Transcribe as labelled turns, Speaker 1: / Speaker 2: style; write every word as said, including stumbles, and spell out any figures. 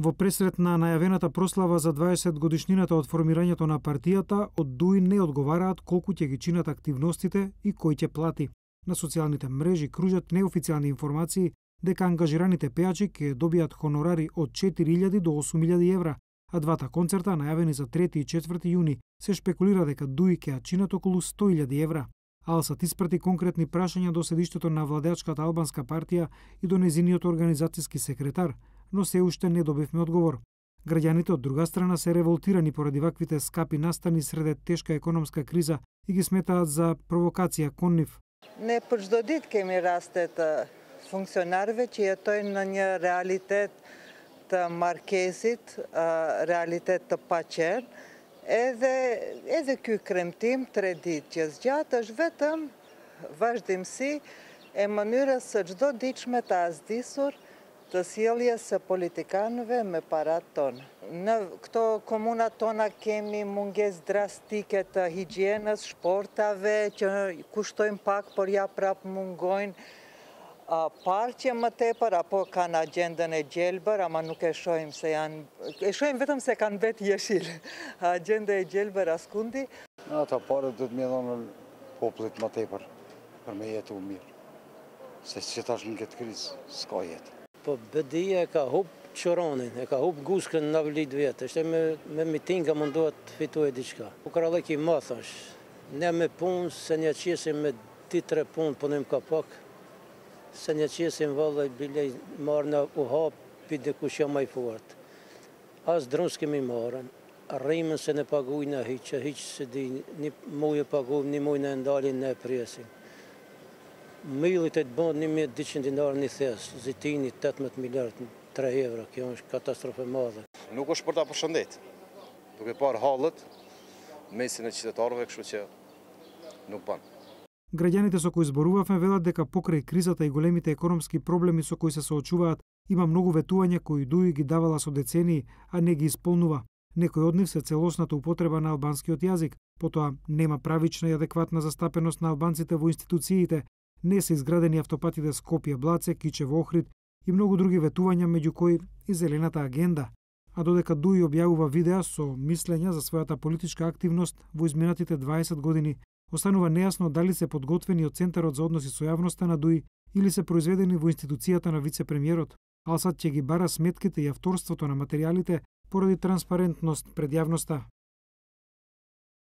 Speaker 1: Во пресрет на најавената прослава за дваесет годишнината од формирањето на партијата, од ДУИ не одговараат колку ќе ги чинат активностите и кој ќе плати. На социјалните мрежи кружат неофицијални информации дека ангажираните пејачи ќе добијат хонорари од четири илјади до осум илјади евра, а двата концерта, најавени за трети и четврти јуни, се шпекулира дека ДУИ ќе ја чинат околу сто илјади евра. Алсат испрати конкретни прашања до седиштето на владеачката албанска партија и до незиниот организацијски секретар, но се уште не добивме одговор. Граѓаните од друга страна се револтирани поради ваквите скапи настани среде тешка економска криза и ги сметаат за провокација кон нив.
Speaker 2: Не përçdo ditë kemi raste të funksionarëve që jetojnë në një realitet të markesit, realitet të paqer, edhe edhe ky kremtim tre ditë që zgjat është vetëm vazhdimsi e mënyrës së çdo ditshme të asdisur të sjelljes së politikanëve me parat tona. Në këto komunat tona kemi mungesë drastike të higjienës, shportave që kushtojnë pak, por ja prap mungojnë. Parqe më tepër apo kanë agjendën e gjelbër, ama nuk e shohim se janë, e shohim vetëm se kanë vetë jeshil. Agjenda e gjelbër askundi.
Speaker 3: Ata parët do të më dhonë popullit më tepër për me jetu mirë. Se që tash në këtë krizë, s'ka jetë.
Speaker 4: Po bedia e ka hub çoranin, e ka hub guskën në vlit vjetë, është me, me mitinga mundohet të fitoj diçka. U krallëki ma thash, ne me punë, se një qesim me ti tre punë, punim ka pak, se një qesim vallë i bile marrë në u hapi dhe kush jam ma i fort. As drun s'kemi marrën, rrimën se ne pagujnë hiqë, hiqë se di, një mujë pagujnë, një mujë në ndalin në presim. Millit e të bëndë një mijë e dyqind dinarë një thesë, zitini tetëmbëdhjetë miliardë tre euro, kjo është katastrofe madhe.
Speaker 5: Nuk është për ta përshëndet, duke parë halët, mesin e qytetarëve, kështu që nuk banë.
Speaker 1: Граѓаните со кои зборувавме велат дека покрај кризата и големите економски проблеми со кои се соочуваат, има многу ветувања кои ДУИ ги давала со децении, а не ги исполнува. Некои од нив се целосната употреба на албанскиот јазик, потоа нема правична и адекватна застапеност на албанците во институциите, не се изградени автопатите Скопје Блаце, Кичево Охрид и многу други ветувања, меѓу кои и зелената агенда. А додека ДУИ објавува видеа со мислења за својата политичка активност во изминатите дваесет години, останува нејасно дали се подготвени од Центарот за односи со јавноста на ДУИ или се произведени во институцијата на вице-премиерот. Алсат ќе ги бара сметките и авторството на материјалите поради транспарентност пред јавноста.